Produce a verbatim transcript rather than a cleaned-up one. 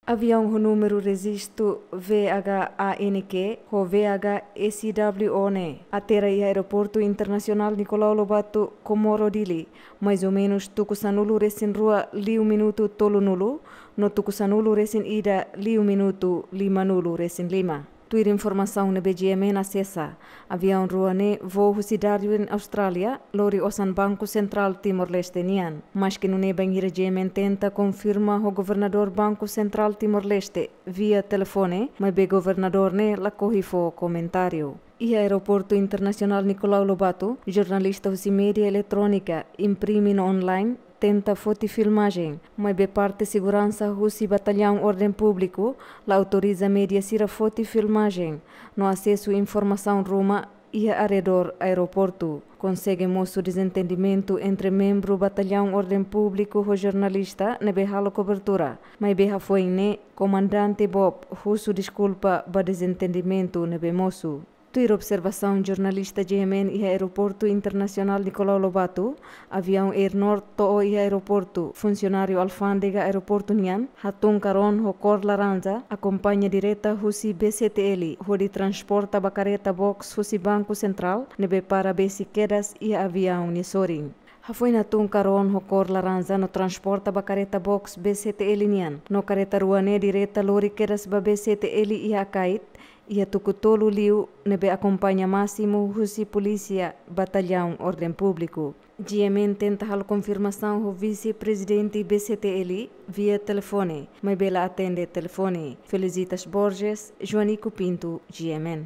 Aviaun ho númeru rejistu V H A N Q ho V H S W O ne'e atera iha Aeroportu Internasionál Nicolau Lobato, Comoro, Dili, mais ou menus tuku sanulu resin rua liu minutu tolunulu, no tuku sanulu resin ida liu minutu limanulu resin lima. Tuir informasaun ne'ebé G M N asesa, aviaun rua ne'e voo husi Darwin, Austrália, lori osan Banku Sentrál Timor-Leste nian. Maske nune'e, bainhira G M N tenta konfirma ho Governadór Banku Sentrál Timor-Leste via telefone, maibé governadór ne'e lakohi fó komentáriu. Iha Aeroportu Internasionál Nicolau Lobato, jornalista husi média eletrónika imprime no online tenta foti filmajen, maibé parte seguransa husi Batallaun Orden Públiku la autoriza média sira foti filmajen no asesu informasaun ruma iha arredór aeroportu. Konsege mosu dezentendimentu entre membru Batallaun Orden Públiku ho jornalista ne'ebé halo kobertura, maibé hafoin ne'e komandante Bob husu deskulpa ba dezentendimentu ne'ebé mosu. Tuir observasaun jornalista G M N iha Aeroportu Internasionál Nicolau Lobato, aviaun Air Nord to'o iha aeroportu, funsionáriu alfándega aeroportu nian hatún karon ho kór laranja, akompaña direta husi B C T L, hodi transporta ba kareta box husi Banku Sentrál, ne'ebé para besik kedas iha aviaun nia sorin. Hafoin hatún karon ho kór laranja no transporta ba kareta box B C T L nian, no kareta rua ne'e direta lori kedas ba B C T L iha Akait, iha tuku tolu liu, ne'ebé akompaña másimu husi polísia Batallaun Orden Públiku. G M N tenta halo konfirmasaun ho vise-prezidente B C T L via telefone, maibé la atende telefone. Felicitas Borges, Joanico Pinto, G M N.